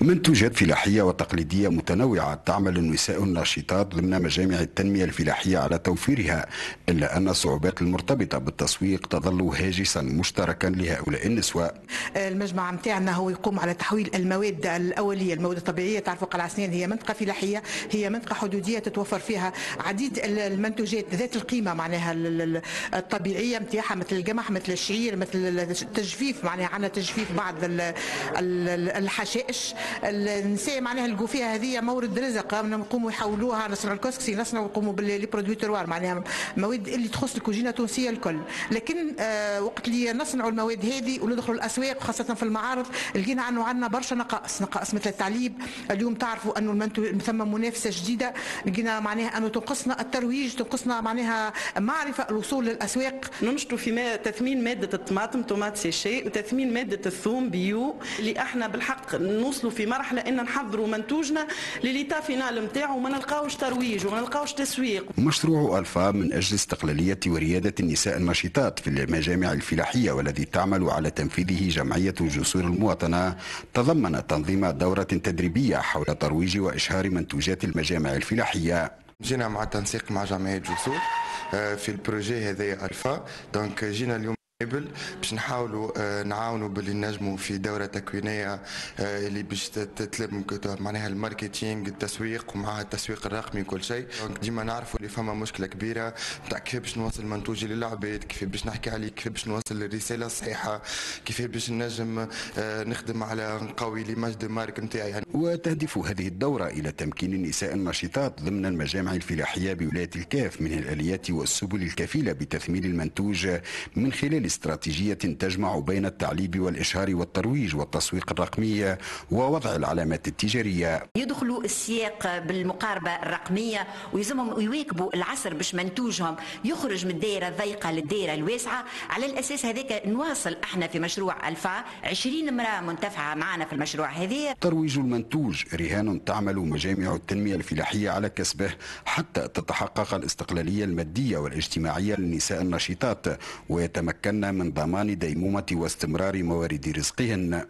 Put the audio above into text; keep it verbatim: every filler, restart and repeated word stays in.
منتوجات فلاحية وتقليدية متنوعة تعمل النساء الناشطات ضمن مجامع التنمية الفلاحية على توفيرها، إلا أن الصعوبات المرتبطة بالتسويق تظل هاجسا مشتركا لهؤلاء النسوة. المجمع متاعنا هو يقوم على تحويل المواد الأولية، المواد الطبيعية. تعرفوا قلعة سنان هي منطقة فلاحية، هي منطقة حدودية تتوفر فيها عديد المنتوجات ذات القيمة معناها الطبيعية متاعها، مثل القمح، مثل الشعير، مثل التجفيف، معناها عندنا تجفيف بعض الحشائش. النساء معناها لقوا فيها هذه مورد رزق، نقوموا يحولوها، نصنعوا الكسكسي، نصنعوا نقوموا ب les produits terroir، معناها مواد اللي تخص الكوجينه التونسية الكل. لكن آه وقت اللي نصنعوا المواد هذه وندخلوا الاسواق خاصة في المعارض، لقينا انه عندنا برشا نقائص، نقائص مثل التعليب. اليوم تعرفوا انه المنتو ثم منافسه جديده، لقينا معناها انه تنقصنا الترويج، تنقصنا معناها معرفة الوصول للاسواق. ننشطوا في ما تثمين مادة الطماطم tomate séchée وتثمين مادة الثوم bio، اللي احنا بالحق نوصلوا في مرحلة ان نحضروا منتوجنا ل l'état final نتاعو وما نلقاوش ترويج وما نلقاوش تسويق. مشروع الفا من اجل استقلالية ورياده النساء النشيطات في المجامع الفلاحية والذي تعمل على تنفيذه جمعية جسور المواطنه، تضمن تنظيم دوره تدريبية حول ترويج واشهار منتوجات المجامع الفلاحية. جينا مع التنسيق مع جمعية جسور في ال projet هذايا الفا، donc جينا اليوم باش نحاولوا آه، نعاونوا باللي نجموا في دوره تكوينيه آه، اللي باش تتلم معناها ال marketing، التسويق، ومع التسويق الرقمي وكل شيء. donc ديما نعرفوا اللي فما مشكلة كبيرة نتاع كيف باش نوصل منتوجي للعباد، كيف باش نحكي عليه، كيف باش نوصل الرسالة الصحيحه، كيف باش نجم آه، نخدم على نقوي l'image de marque نتاعي يعني. وتهدف هذه الدورة الى تمكين النساء النشيطات ضمن المجامع الفلاحية بولاية الكاف من الاليات والسبل الكفيله بتثمين المنتوج من خلال استراتيجية تجمع بين التعليب والإشهار والترويج والتسويق الرقمي ووضع العلامات التجارية. يدخلوا السياق بالمقاربة الرقمية ويلزمهم يواكبوا العصر باش منتوجهم يخرج من الدائرة الضيقة للدائرة الواسعة. على الأساس هذاك نواصل احنا في مشروع ألفا، عشرين امرأة منتفعة معنا في المشروع هذا. ترويج المنتوج رهان تعمل مجامع التنمية الفلاحية على كسبه حتى تتحقق الاستقلالية المادية والاجتماعية للنساء النشيطات ويتمكن من ضمان ديمومة واستمرار موارد رزقهن.